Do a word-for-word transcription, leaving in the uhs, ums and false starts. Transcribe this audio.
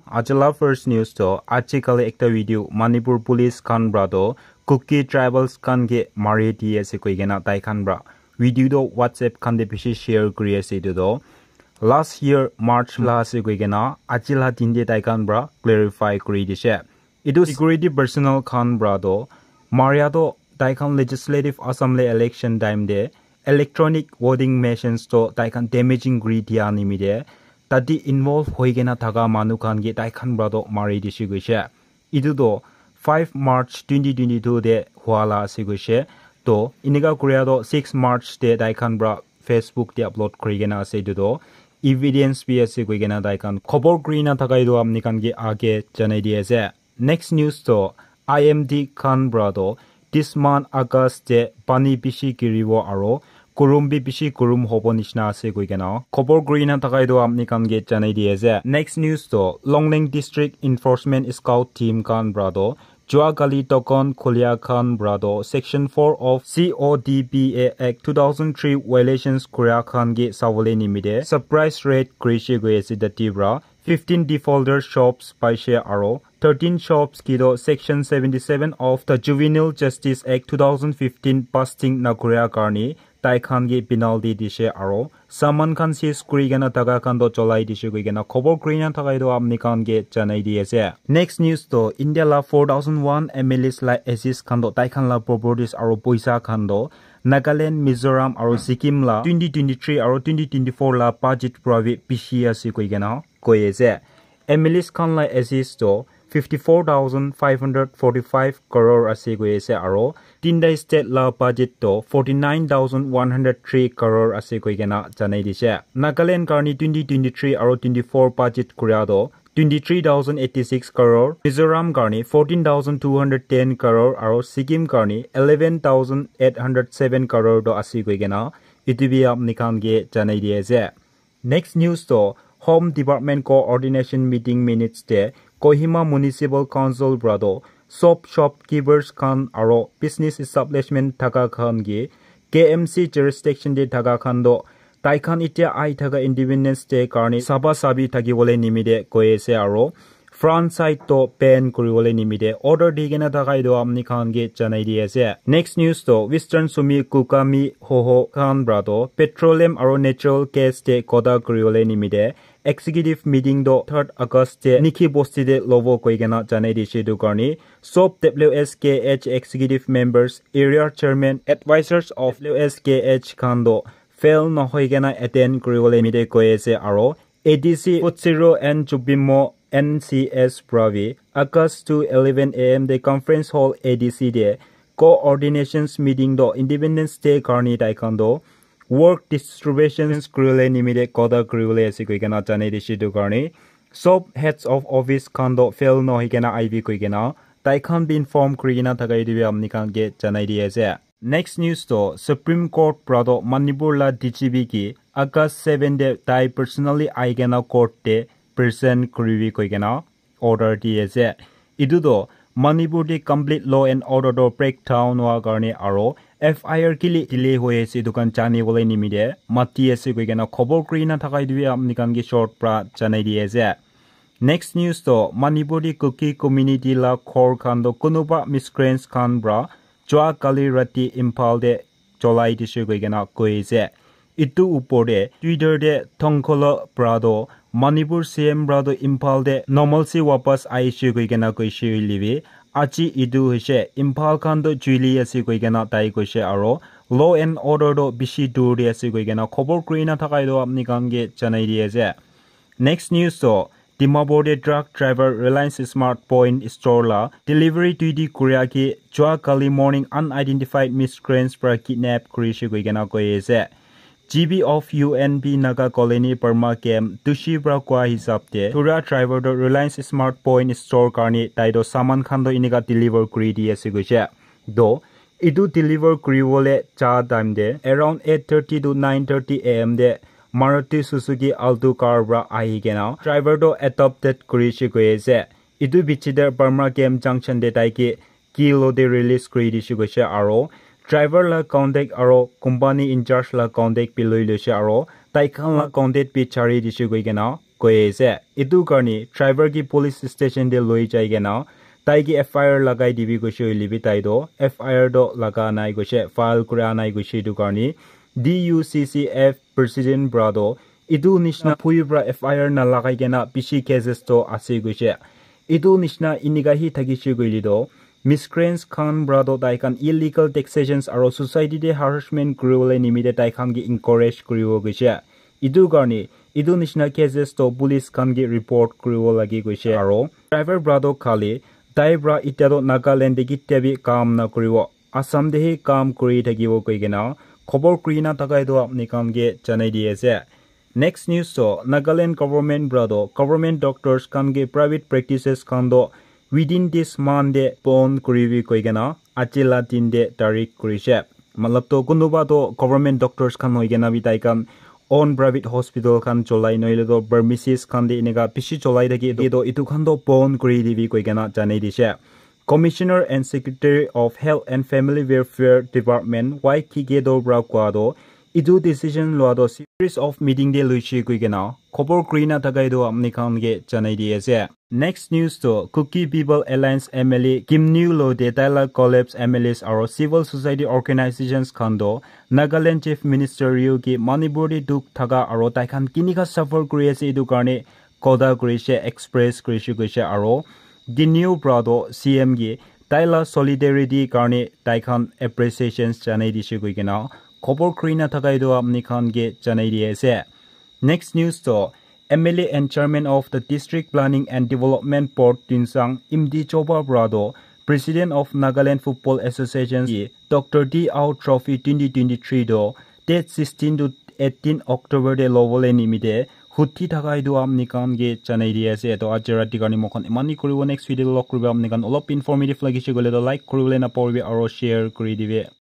Aji la first news to, aji kali ekta video Manipur police khan pra to Kuki tribals khan ke mari di ase koi kena tai khan pra video to WhatsApp khan te bishi share kuri ase. Etu to last year March la ase koi kena aji la din te tai khan pra clarify kuri dishe. Etu security personnel khan pra to maria to tai khan Legislative Assembly election time te electronic voting machines to tai khan damaging kuri dia nimite tate involve hoi kena thaka manu khan ke tai khan pra to mari dishe koishe. Etu to five March twenty twenty-two te hua la ase koishe. To inika kuria to six March te tai khan pra Facebook te upload kuri kena ase. Etu to evidence bi ase koi kena tai khan khobor kuri na thaka etu apni khan ke age janai di ase. Next news to I M D khan pra to this month August te pani bishi giribo aro kurum bi bishi kurum hobo nishina ase koi kena khobor kuri na thaka etu apni khan ke janai di ase. Next news to Longleng District Enforcement Scout Team khan pra to jua kali token khulia khan pra to Section four of C O D P A Act two thousand three violations kuria khan ke sabole nimite surprise raid kurishe koi ase tate pra. Fifteen defaulter shops paishe aro thirteen shops kido Section seventy-seven of the Juvenile Justice Act two thousand fifteen busting na kuria karni tai khan ke penalty dishe aro saman khan seize kuri kena thaka khan to cholai dishe koi kena khobor kuri na thaka etu apni khan ke janai di ase. Next news to India la four thousand one M L As la assets khan to tai khan la properties aro poisa khan to Nagaland, Mizoram aro Sikkim la twenty twenty-three aro twenty twenty-four la budget pra bi bishi ase koi kena koi ase. M L As khan la assets to fifty-four thousand five hundred forty-five crore ase koi ase aro tinta state la budget to forty-nine thousand one hundred three crore ase koi kena janai dishe. Nagaland karni twenty twenty-three aro twenty-four budget kuria to twenty-three thousand eighty-six crore, Mizoram karni fourteen thousand two hundred ten crore aro Sikkim karni eleven thousand eight hundred seven crore to ase koi kena etu bi apni khan ke janai di ase. Next news to Home Department Coordination Meeting minutes te Kohima Municipal Council pra to sob shopkeepers khan aro business establishment thaka khan ke K M C jurisdiction te thaka khan to tai khan itya ai thaka Independence Day karni saba sabi thaki bole nimite koi ase aro front side to ban kuri bole nimite order di kena thaka etu apni khan ke janai di ase. Next news to Western Sumi Kukami Hoho khan pra to petroleum aro natural gas te kota kuri bole nimite executive meeting to third August te Nikhi Bosti te lobo koi kena janai dishe etu karni sob W S K H executive members, area chairman, advisors of W S K H khan to fail nohoi kena attend kuri bole nimite koi ase aro A D C Futsiro and Chubimo N C S pra bi August to eleven A M te conference hall A D C te coordinations meeting to Independence Day karni tai khan to work distributions kuri bole nimite kota kuri bole ase koi kena janai dishe etu karni sob heads of office khan to fail nohoi kena aibi koi kena tai khan bi inform kuri kena thaka etu bi apni khan ke janai di ase. Next news to Supreme Court pra to Manipur la D G P ke August seven te tai personally ai kena court te present kuri bi koi kena order di ase. Etu to Manipur te complete law and order to breakdown hua karni aro F I R kile delay hoi ase etu khan jani bole nimite mati ase koi kena khobor kuri na thaka etu bi apni khan ke short pra janai di ase. Next news to Manipur te Kuki community la ghor khan to kunuba miscreants khan pra jua kali rati Imphal te cholai dishe koi kena koi ase. Etu upor te Twitter te Thongkholo pra to Manipur C M pra to Imphal te normalcy wapas aishe koi kena koishe hoile bi aji etu hoishe Imphal khan to juili ase koi kena tai koishe aro law and order to bishi dur te ase koi kena khobor kuri na thaka etu apni khan ke janai di ase. Next news to Dimapur te truck driver Reliance Smart Point store la delivery duty kuria ke jua kali morning unidentified miscreants pra kidnap kurishe koi kena koi ase. G B of U N P Naga Colony Burma Camp Tushi pra koa hisab te thura driver to Reliance Smart Point store karni tai to saman khan to inika deliver kuri di ase koishe. To etu deliver kuri bole ja time te around eight thirty to nine thirty A M te Maruti Suzuki Alto car pra ahi kena driver to adopted kurishe koi ase. Etu bichi te Burma Camp Junction te tai ke kilo te release kuri dishe koishe aro driver la contact aro company in charge la contact bi loi loishe aro tai khan la contact bi chari dishe koi kena koi ase. Etu karne driver ke police station te loi jai kena tai ke F I R lagai dibi koise hoile bi tai toh F I R toh laga nai koise, file kura nai koise. Etu karne D U C C F president para toh etu nishina phui para F I R na lagai kena bishi cases toh ase koise. Etu nishina enika hi thakise koile toh miscreants khan para toh tai khan illegal taxations aro society te harassment kuribole nimite tai khan ke encourage kuribo koise. Etu karne etu nishina cases toh police khan ke report kuribo lage koise. Aro driver para toh khali tai para itya toh Nagaland te kitia bi kam na kuribo, Assam te hi kam kuri thakibo koi kena khobor kuri na thaka etu apni khan ke janai di ase. Next news toh Nagaland government para toh government doctors khan ke private practices khan toh within this month te bon kuribi koi kena aji la din te tarik kurise. Matlab toh kunuba toh government doctors khan hoi kena bi tai khan own private hospital khan cholai nohoile toh pharmacies khan te enika bishi cholai thake toh etu khan toh bon kuri dibi koi kena janai dise. Commissioner and Secretary of Health and Family Welfare Department Y K Keto para koa toh etu decision loa toh series of meeting te loise koi kena khobor kuri na thaka etu apni khan ke janai di ase. Next news toh Kuki People Alliance M L A Kimniu Lode, tai la collapse M L As aro civil society organizations khan toh Nagaland Chief Minister Ryu ke Manipur te dukh thaka aro tai khan kinika suffer kuri ase etu karne kotha kurise, express kurise koise aro Ginyu para toh C M ke tai la solidarity karne tai khan appreciations janai dise koi kena khobor kuri na thaka etu apni khan ke janai di ase. Next news toh M L A and Chairman of the District Planning and Development Board Tuensang Imdi Choba para toh President of Nagaland Football Association ke Doctor D Ao Trophy twenty twenty-three toh date sixteen to eighteen October te lobole nimite huti thaka etu apni khan ke janai di ase. Toh aji rati karne moi khan eman hi kuribo, next video te log kuribo. Apni khan olop informative lagise koile toh like kuribole na pahoribi aro share kuri dibi.